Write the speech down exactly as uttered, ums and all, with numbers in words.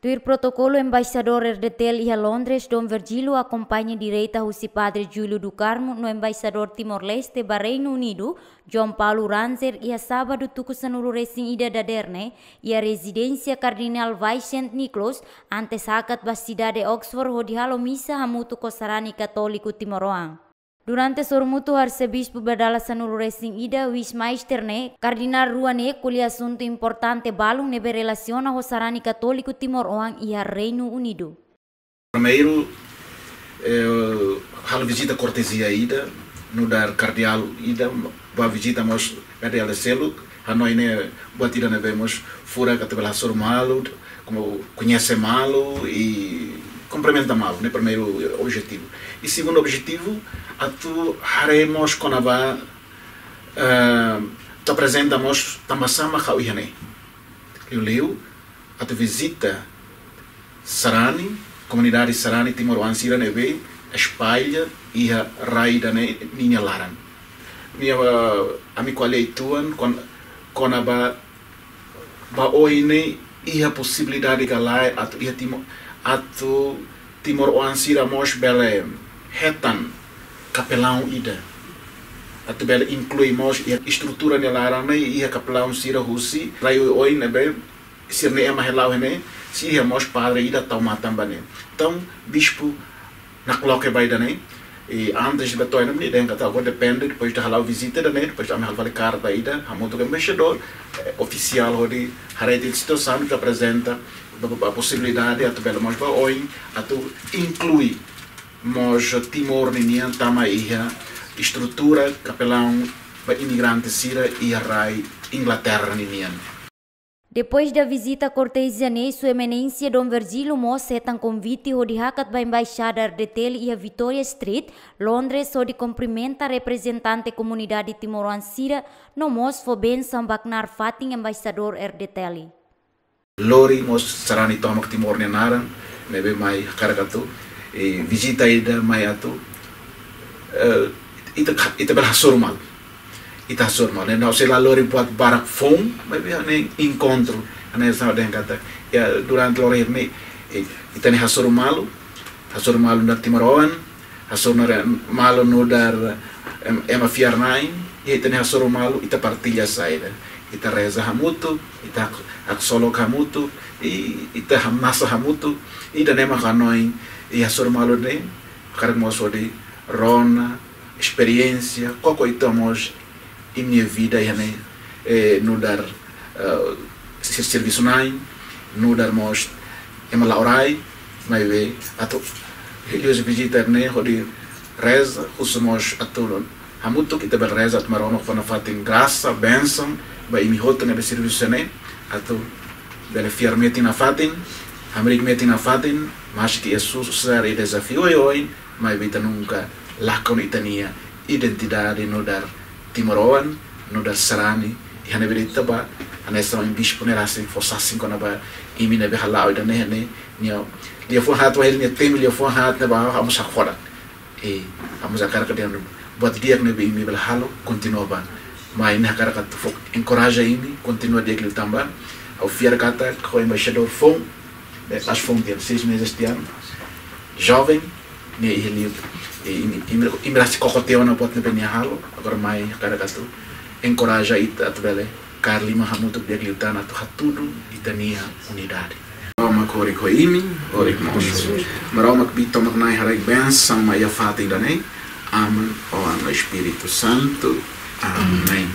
Tuir protokolu, Embaixadór R D T L iha Londres, Dom Virgílio, akompaña direta husi Padre Júlio do Carmo, no Embaixadór Timor-Leste ba Reinu Unidu, João Paulo Rantzer, iha sábadu tuku sanulu-resin-ida dadeer ne'e, iha rezidénsia Kardinál Vicente Nichols, antes hakat ba sidade Oxford hodi halo misa hamutuk ho sarani katóliku timoroan. Durante sorumutu ho arsebispu ba dala sanulu-resin-ida, Wijsmeister ne'e, kardinál rua ne'e ko'alia asuntu importante balun ne'ebé relasiona ho sarani katóliku timoroan iha Reinu Unidu. Primeiru, eh, halo vizita kortezia ida, nu'udar kardeál ida, ba vizita mós kardeál ida seluk, hanoin ne'e buat ida ne'ebé mós furak atu bele hasoru malu, koñese malu i kumprimenta malu, ne'e primeiru objetivu. I segundu objetivu, atu haree mós kona-ba, eh, atu aprezenta mós tanbasá mak ha'u iha ne'e. Liuliu, atu vizita sarani, komunidade sarani timoroan sira ne'ebé espalla iha rai ida-ne'e ninia laran. Nia, eh, ami ko'alia uitoan kon-, kona-ba ba oin ne'e iha posibilidade ka lae atu iha Timo-, atu timoroan sira mós bele hetan kapelaun ida. Atu bele inklui mós iha estrutura nia laran ne'e iha kapelaun sira husi rai oioin ne'ebé sira-nia ema hela iha ne'e, sei iha mós padre ida tau matan ba ne'e. Entaun, bispu nakloke ba ida-ne'e, i antes de betoina, ami dehan katak agora depende, depois de hala'o vizita ida-ne'e, depois ami halo fali karta ida, hamutuk ho embaixadór, eh, ofisiál hodi haree tiha situasaun, atu aprezenta ba, ba, ba posibilidade atu bele mós ba oin, atu inklui mós Timor ninian tama iha estrutura kapelaun ba imigrante sira iha rai Inglaterra ninian. Depois da vizita kortezia ne'e, Sua Eminénsia Dom Virgílio mós hetan konvite hodi hakat ba Embaixada R D T L iha Victoria Street, Londres, hodi kumprimenta reprezentante komunidade timoroan sira, no mós fó bensaun ba knaar fatin Embaixadór R D T L. Lori mós sarani tomak Timor nia naran, ne'ebé mai hakarak atu, eh, vizita ida mai atu, eh, ita, ita bele hasoru malu. Ita hasoru malu. Ne'e ha'u sei la lori buat barak foun, maibé hanesan enkontru, hanesan ha'u dehan katak, iha durante loron ne'e, eh, ita-nia hasoru malu, hasoru malu nu'udar timoroan, hasoru malu nu'udar em-, ema fiar-na'in, i ita-nia hasoru malu, ita partilla saida. Ita reza hamutuk, ita hak-, haksolok hamutuk, i ita hamnasa hamutuk, i ida-ne'e mak hanoin, i hasoru malu ne'e, hakarak mós hodi rona, esperiénsia, koko uitoan mós imi-nia vida iha ne'e, eh, nu'udar, eh, ser-, servisu-na'in, nu'udar mós ema la'o rai, maibé atu liuhusi vizita ne'e hodi reza, husu mós atu hamutuk ita bele reza atu Maromak fó nafatin grasa, bensaun, ba imi hotu ne'ebé servisu iha ne'e, atu bele fiar metin nafatin, hamriik metin nafatin, maski iha susar i dezafiu oioin, maibé ita nunka lakon ita-nia identidade nu'udar timoroan, nu'udar sarani, iha ne'ebé de'it ita bá, hanesan ohin bispu ne'e rasik fó sasin kona-ba imi ne'ebé hala'o ida-ne'e, ne'e, nia, liafuan haat, wainhira nia temi liafuan haat ne'ebá, ha'u mós hakfodak. I ha'u mós hakarak dehan buat di'ak ne'ebé imi bele halo, kontinua bá. Mai ne'e hakarak atu fó enkoraja imi, kontinua di'ak liután bá. Ha'u fiar katak ho embaixadór foun, eh, aas foun tiha, seis meses tiha, joven, ne'e iha liu, eh, imi, imi, imi rasik koko tiha ona buat ne'ebé nia halo, agora mai hakarak atu enkoraja ita atu bele kaer liman hamutuk di'ak liután atu hatudu ita-nia unidade. Maromak horik ho imi, horik mós. Maromak Oan tomak Na'i haraik bensaun mai iha fatin ida-ne'e. Aman, Oan no Espíritu Santu. Amen.